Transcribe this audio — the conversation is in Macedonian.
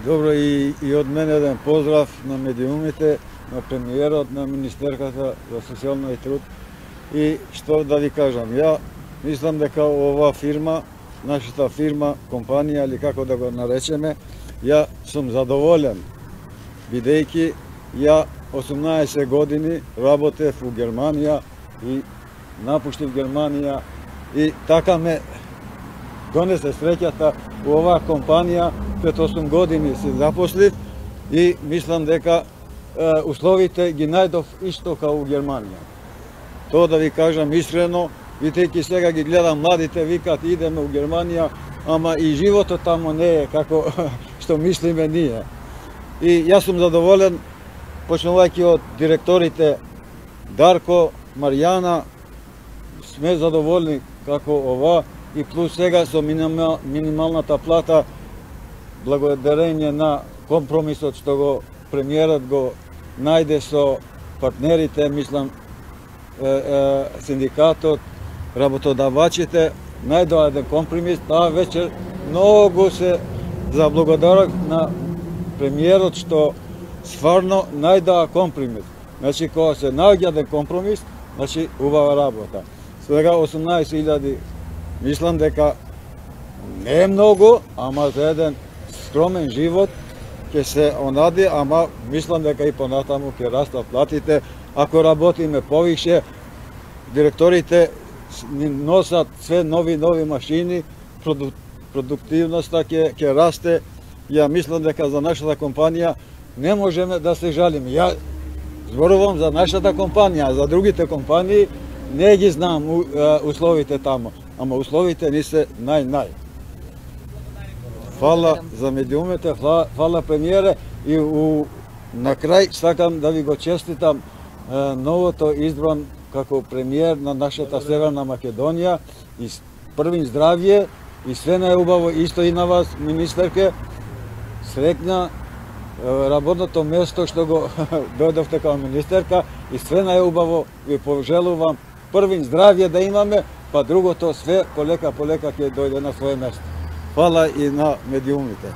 Добро, и од мене еден поздрав на медиумите, на премиерот, на Министерката за социјална и труд. И што да ви кажам, ја мислам дека ова фирма, нашата фирма, компанија или како да го наречеме, ја сум задоволен, бидејќи ја 18 години работев у Германија и напуштив Германија и така ме донесе среќата у оваа компанија. Пред 8 години се запослив и мислам дека условите ги најдов исто као у Германија. Тоа да ви кажам искрено, бидејќи сега ги гледам младите, викат идеме у Германија, ама и животот тамо не е како што мислиме ние. И јас сум задоволен, почнувајќи од директорите Дарко, Марјана, сме задоволни како ова и плюс сега со минималната плата, благодарение на компромисот што го премиерот го најде со партнерите, мислам, синдикатот, работодавачите, најдоа еден компромис. Таа вечер многу се заблагодарок на премиерот што стварно најдоа компромис. Значи, кога се наоѓа еден компромис, значи убава работа. Сега 18.000, мислам дека не е многу, ама за еден скромен живот ќе се онади, ама мислам дека и понатаму ќе растат платите. Ако работиме повише, директорите ни носат све нови машини, продуктивноста ќе расте. Ја мислам дека за нашата компанија не можеме да се жалиме. Ја зборувам за нашата компанија, за другите компании не ги знам условите тамо, ама условите ни се нај. Фала за медиумите, фала премиере и на крај сакам да ви го честитам новото избран како премиер на нашата Северна Македонија и првин здравје и све најубаво исто и на вас, министерке. Среќна работното место што го дојдовте како министерка и све најубаво ви пожелувам. Првин здравје да имаме, па другото све полека ќе дојде на своје место. Фала и на медиумите.